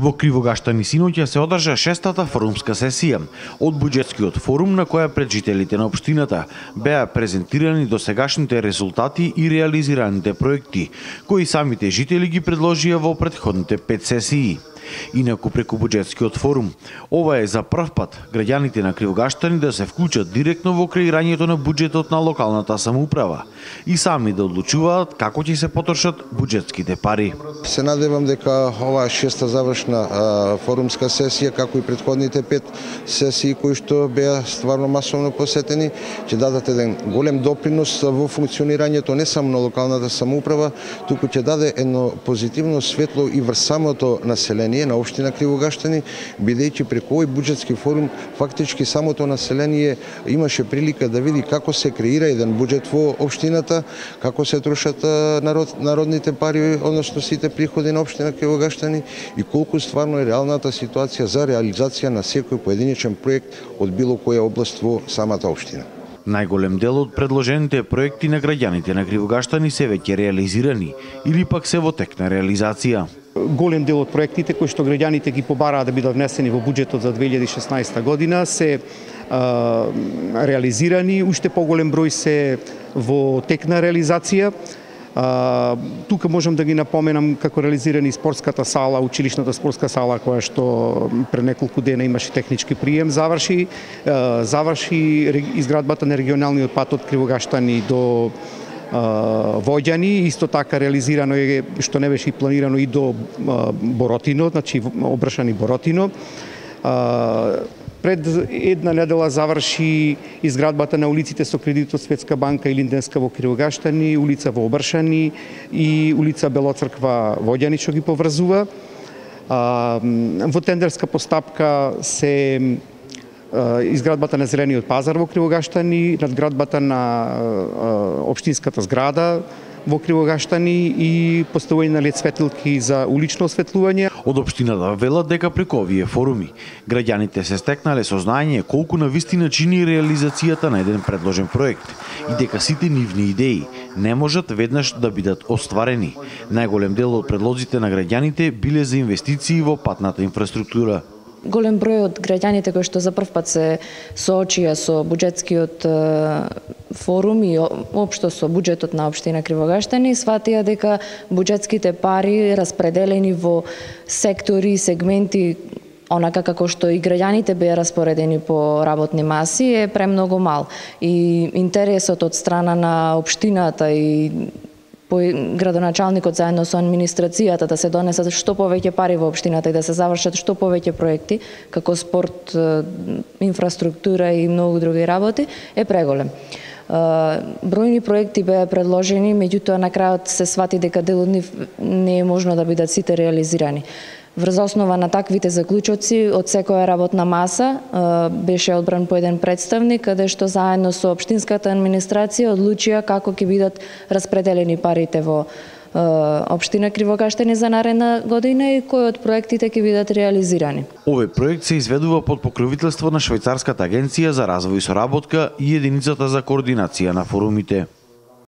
Во Кривогаштани синоќа се одржа 6-та форумска сесија од буџетскиот форум на која пред жителите на општината беа презентирани досегашните резултати и реализираните проекти, кои самите жители ги предложија во претходните 5 сесии. Инаку преку буџетскиот форум, ова е за прв пат граѓаните на Кривогаштани да се вклучат директно во креирањето на буџетот на локалната самоуправа и сами да одлучуваат како ќе се потрошат буџетските пари. Се надевам дека оваа 6-та завршна форумска сесија, како и претходните 5 сесии кои што беа стварно масовно посетени, ќе дадат еден голем допринос во функционирањето не само на локалната самоуправа, туку ќе даде едно позитивно светло и врз самото население на општина Кривогаштани, бидејќи преку овој буџетски форум фактички самото население имаше прилика да види како се креира еден буџет во општината, како се трошат народните пари, односно сите приходи на општина Кривогаштани и колку стварно е реалната ситуација за реализација на секој поединечен проект од било која област во самата општина. Најголем дел од предложените проекти на граѓаните на Кривогаштани се веќе реализирани или пак се во тек на реализација. Голем дел од проектите кои што граѓаните ги побараа да бидат внесени во буџетот за 2016 година се реализирани, уште поголем број се во тек на реализација. Тука можам да ги напоменам како реализирани спортската сала, училишната спортска сала која што пред неколку дена имаше технички прием, заврши изградбата на регионалниот пат од Кривогаштани до Воѓани, исто така реализирано е што не беше и планирано и до Боротино, значи обршани Боротино. Пред една недела заврши изградбата на улиците со кредит од Светска банка и Линденска во Кривогаштани, улица во Обршани и улица Белоцрква Воѓани што ги поврзува. Во тендерска постапка се изградбата на Зелениот пазар во Кривогаштани, надградбата на општинската зграда во Кривогаштани и поставување на лед светилки за улично осветлување. Од општината велат дека преку овие форуми граѓаните се стекнале сознање колку навистина чини реализацијата на еден предложен проект и дека сите нивни идеи не можат веднаш да бидат остварени. Најголем дел од предлозите на граѓаните биле за инвестиции во патната инфраструктура. Голем број од граѓаните кои што за прв пат се соочија со буџетскиот форум и општо со буџетот на општина Кривогаштани сватија дека буџетските пари распределени во сектори и сегменти онака како што и граѓаните беа распоредени по работни маси е премногу мал и интересот од страна на општината и градоначалникот заедно со администрацијата да се донесат што повеќе пари во општината и да се завршат што повеќе проекти, како спорт, инфраструктура и многу други работи, е преголем. Бројни проекти беа предложени, меѓутоа на крајот се свати дека дел од нив не е можно да бидат сите реализирани. Врз основа на таквите заклучоци од секоја работна маса беше одбран по еден представник, каде што заедно со општинската администрација одлучија како ќе бидат распределени парите во општина Кривогаштани за наредна година и кои од проектите ќе бидат реализирани. Овој проект се изведува под покровителство на Швајцарската агенција за развој и соработка и единицата за координација на форумите.